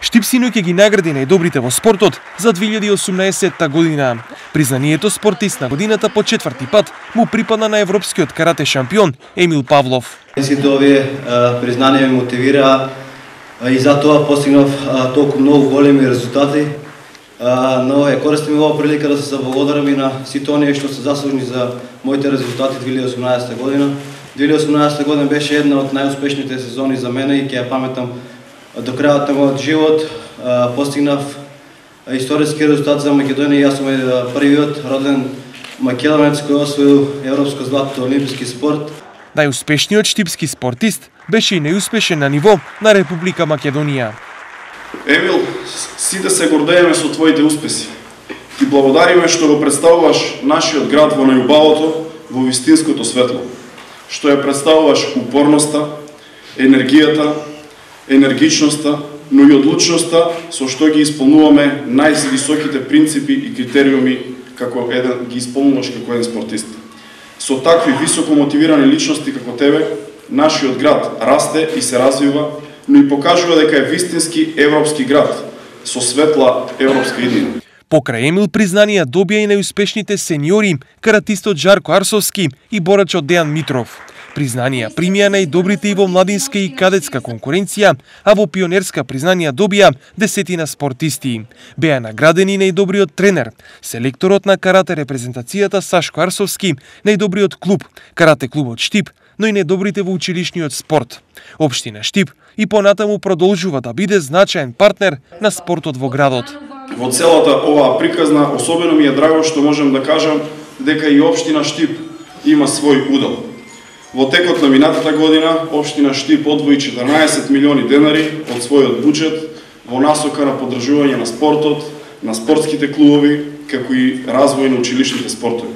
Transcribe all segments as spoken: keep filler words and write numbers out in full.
Штипсино ќе ги награди најдобрите во спортот за две илјади и осумнаесетта година. Признанието спортист на годината по четврти пат му припадна на европскиот карате шампион Емил Павлов. Сите овие признанија ме мотивираа и затоа постигнав толку многу големи резултати. Но ја користим оваа прилика да се заблагодарам и на сите оние што се заслужни за моите резултати две илјади и осумнаесетта година. две илјади и осумнаесетта година беше една од најуспешните сезони за мене и ќе ја паметам до крајот на мојот живот. Постигнав историски резултат за Македонија и јас сум првиот роден македонец кој освоил европско злато во олимписки спорт. Најуспешниот штипски спортист беше и најуспешен на ниво на Република Македонија. Емил, сите се гордееме со твоите успеси. Ти благодариме што го представуваш нашиот град во најубавото, во вистинското светло. Што ја представуваш упорноста, енергијата, енергичноста, но и одлучноста со што ги исполнуваме највисоките принципи и критериуми како еден ги исполнуваш како еден спортист. Со такви високо мотивирани личности како тебе, нашиот град расте и се развива, но и покажува дека е вистински европски град со светла европска иднина. Покрај Емил признанија добија и најуспешните сениори, каратистот Жарко Арсовски и борачот Дејан Митров. Признанија примија најдобрите и во младинска и кадетска конкуренција, а во пионерска признанија добија десетина спортисти. Беа наградени најдобриот тренер, селекторот на карате репрезентацијата Сашко Арсовски, најдобриот клуб, карате клубот Штип, но и најдобрите во училишниот спорт. Општина Штип и понатаму продолжува да биде значаен партнер на спортот во градот. Во целата оваа приказна особено ми е драго што можам да кажам дека и општина Штип има свој удел. Во текот на минатата година, општина Штип одвои четрнаесет милиони денари од својот буџет во насока на поддржување на спортот, на спортските клубови, како и развој на училишните спортови.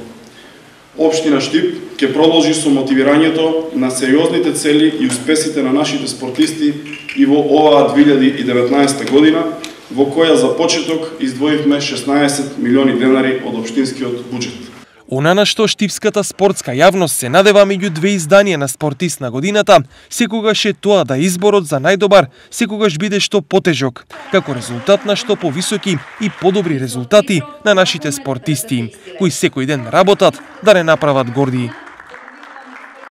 Општина Штип ќе продолжи со мотивирањето на сериозните цели и успесите на нашите спортисти и во оваа две илјади и деветнаесетта година, во која за почеток издвоивме шеснаесет милиони денари од општинскиот буџет. Она на што штипската спортска јавност се надева меѓу две изданија на спортист на годината, секогаш е тоа да изборот за најдобар секогаш биде што потежок, како резултат на што повисоки и подобри резултати на нашите спортисти, кои секој ден работат да не направат горди.